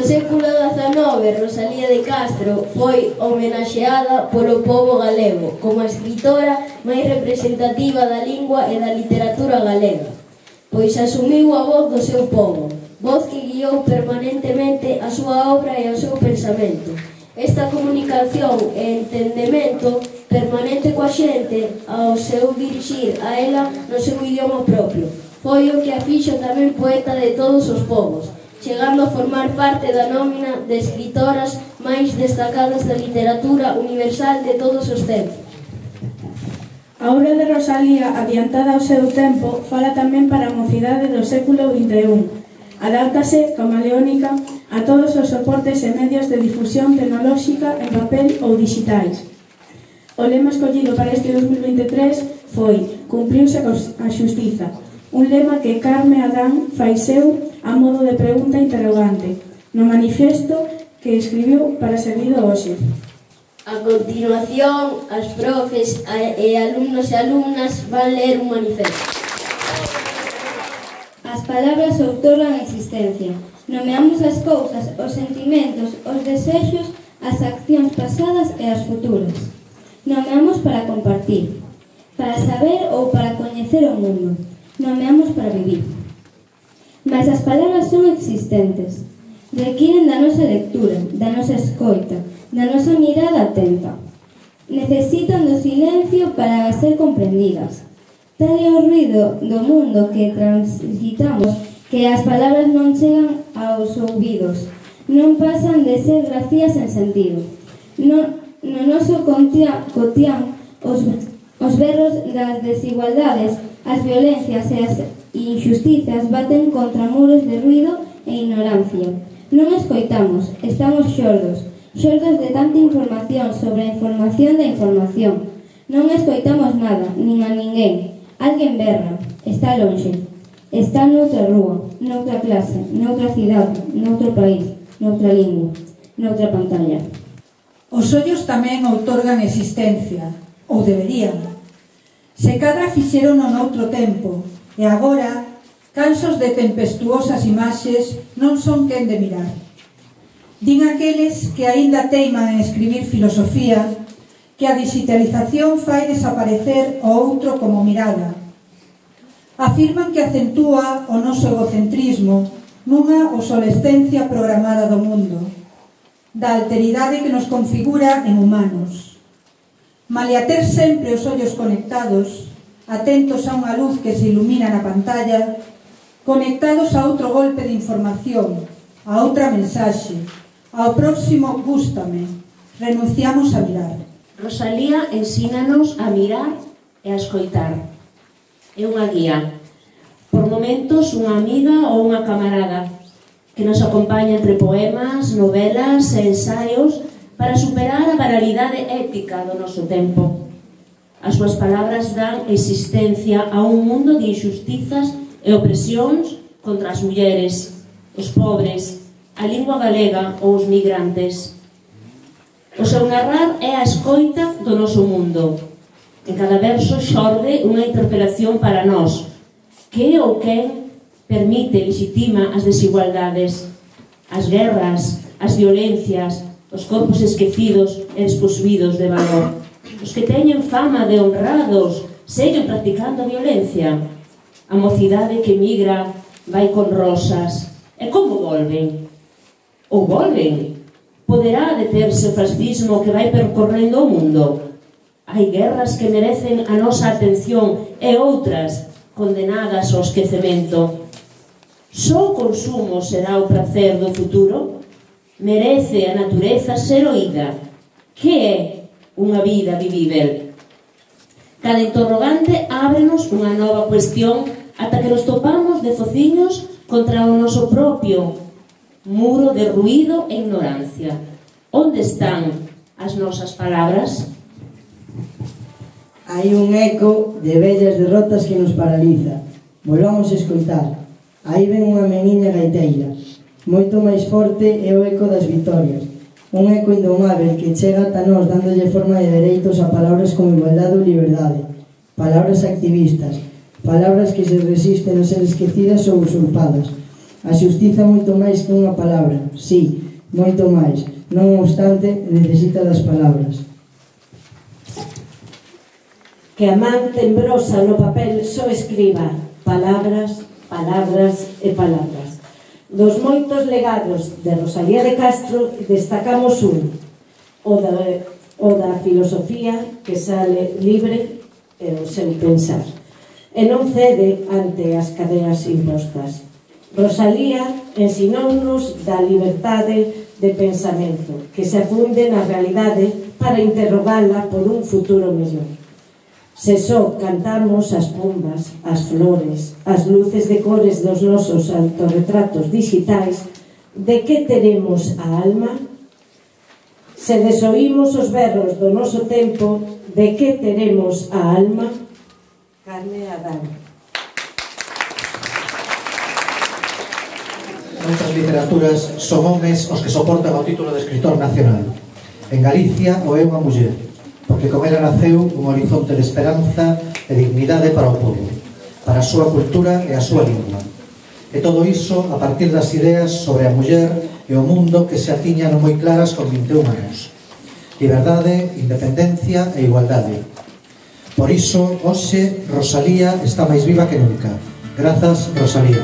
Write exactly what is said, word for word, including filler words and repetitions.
No século dezanove, Rosalía de Castro foi homenaxeada polo pobo galego como a escritora máis representativa da lingua e da literatura galega, pois asumiu a voz do seu pobo, voz que guiou permanentemente a súa obra e o seu pensamento. Esta comunicación e entendemento permanente coa xente ao seu dirixir a ela no seu idioma propio foi o que a fixo tamén poeta de todos os povos, chegando a formar parte da nómina de escritoras máis destacadas da literatura universal de todos os tempos. A obra de Rosalía, adiantada ao seu tempo, fala tamén para a mocidade do século vinte e un. Adáptase, camaleónica, a todos os soportes e medios de difusión tecnolóxica en papel ou digitais. O lema escollido para este dos mil vinte e tres foi "Cumpriuse a xustiza", un lema que Carme Adán fai seu a modo de pregunta interrogante, no manifesto que escribiu para servido hoxe. A continuación, as profes e alumnos e alumnas van ler un manifesto. As palabras outorgan existencia. Nomeamos as cousas, os sentimentos, os desexos, as accións pasadas e as futuras. Nomeamos para compartir, para saber ou para coñecer o mundo. Nomeamos para vivir. Mas as palabras son existentes. Requiren da nosa lectura, da nosa escoita, da nosa mirada atenta. Necesitan do silencio para ser comprendidas. Tal é o ruido do mundo que transitamos que as palabras non chegan aos ouvidos, non pasan de ser grafías sen sentido. No, no noso cotián, cotián os, os berros das desigualdades, as violencias e as injusticias baten contra muros de ruido e ignorancia. Non escoitamos, estamos xordos, xordos de tanta información sobre a información da información. Non escoitamos nada, nin a ninguén. Alguén berra, está lonxe, está noutra rúa, noutra clase, noutra cidade, noutro país, noutra lingua, noutra pantalla. Os ollos tamén outorgan existencia, ou deberían. Se cadra fixeron noutro tempo, e agora, cansos de tempestuosas imaxes, non son quen de mirar. Din aqueles que aínda teiman en escribir filosofía que a digitalización fai desaparecer o outro como mirada. Afirman que acentúa o noso egocentrismo nunha obsolescencia programada do mundo, da alteridade que nos configura en humanos. Malia ter sempre os ollos conectados, atentos a unha luz que se ilumina na pantalla, conectados a outro golpe de información, a outra mensaxe, ao próximo gústame, renunciamos a mirar. Rosalía ensínanos a mirar e a escoitar. É unha guía, por momentos unha amiga ou unha camarada, que nos acompaña entre poemas, novelas e ensaios para superar a banalidade ética do noso tempo. As súas palabras dan existencia a un mundo de injustizas e opresións contra as mulleres, os pobres, a lingua galega ou os migrantes. O seu narrar é a escoita do noso mundo. En cada verso xorde unha interpelación para nós. Que ou quen permite, legitima as desigualdades, as guerras, as violencias, os corpos esquecidos e desposuídos de valor, os que teñen fama de honrados seguen practicando a violencia, a mocidade que migra vai con rosas, e como volven? Ou volven? Poderá deterse o fascismo que vai percorrendo o mundo? Hai guerras que merecen a nosa atención e outras condenadas ao esquecemento. Só o consumo será o prazer do futuro? Merece a natureza ser oída. Que é unha vida vivível? Cada interrogante ábrenos unha nova cuestión ata que nos topamos de fociños contra o noso propio muro de ruído e ignorancia. Onde están as nosas palabras? Hai un eco de vellas derrotas que nos paraliza. Volvamos a escoitar. Aí ven unha meniña gaiteira. Moito máis forte é o eco das vitorias. Un eco indomável que chega ata nós dándolle forma de dereitos a palabras como igualdade ou liberdade. Palabras activistas. Palabras que se resisten a ser esquecidas ou usurpadas. A xustiza moito máis que unha palabra, sí, moito máis. Non obstante, necesita das palabras. Que a man tembrosa no papel só escriba palabras, palabras e palabras. Dos moitos legados de Rosalía de Castro destacamos un, o da, o da filosofía que sale libre e o seu pensar, e non cede ante as cadeas impostas. Rosalía ensinounos da liberdade de pensamento que se afunde na realidade para interrogala por un futuro mellor. Se só cantamos as pombas, as flores, as luces de cores dos nosos autorretratos digitais, de que teremos a alma? Se desoímos os berros do noso tempo, de que teremos a alma? Carme Adán. Noutras literaturas son homes os que soportan o título de escritor nacional. En Galicia o é unha muller, porque con ela naceu un horizonte de esperanza e dignidade para o povo, para a súa cultura e a súa lingua. E todo iso a partir das ideas sobre a muller e o mundo que se atiñan moi claras con vinte e un anos. Liberdade, independencia e igualdade. Por iso, hoxe, Rosalía está máis viva que nunca. Grazas, Rosalía.